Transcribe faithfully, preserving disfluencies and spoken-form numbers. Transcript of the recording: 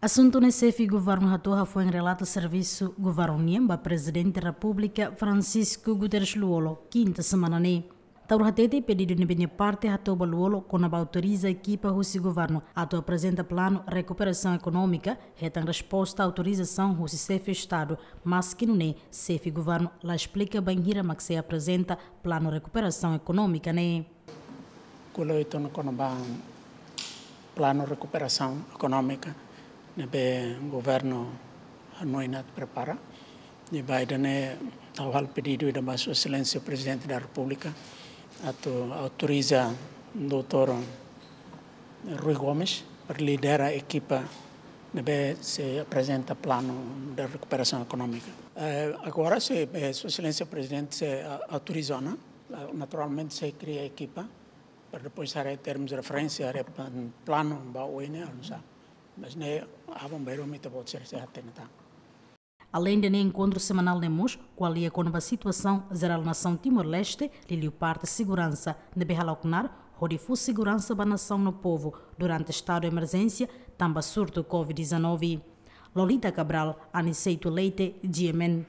Asuntu ne'e xefe governu hato'o hafoin relata servisu governu nian ba Prezidente Repúblika Francisco Guterres Lú-Olo, kinta semana ne'e. Taur hatete pedidu ne'ebé nia parte hato'o ba Lú-Olo kona-ba autoriza ekipa husi governu atu aprezenta planu rekuperasaun ekonómika, hetan resposta autorizasaun husi xefe Estadu, maski nune'e xefe governu la esplika bainhira mak sei aprezenta planu rekuperasaun ekonómika ne'e. Ko'alia uitoan kona-ba planu rekuperasaun ekonómika ne'ebé governu hanoin atu prepara. Ne'ebé ida-ne'e ha'u halo pedidu ida ba Sua Exelénsia Prezidente da Repúblika atu autoriza doutór Rui Gomes para lidera ekipa ne'ebé sei aprezenta planu de rekuperasaun ekonómika. Eh, agora se, eh, Sua Exelénsia Prezidente sei, ah, autoriza ona, ah, naturalmente sei kria ekipa para depois haree termus de referénsia, haree plan-, planu ba oin ne'e, anu sa. Mas ne'e aban-bainrua mak ita-boot sira sei hatene tan. Aleinde ne'e, enkontru semanál ne'e mós ko'alia kona-ba situasaun jerál nasaun Timor-Leste, liuliu parte seguransa, ne'ebé hala'o knaar hodi fó seguransa ba nasaun no povu durante estadu emerjénsia tanba surtu covid dezanove. Lolita Cabral, Aniceto Leite, G M N.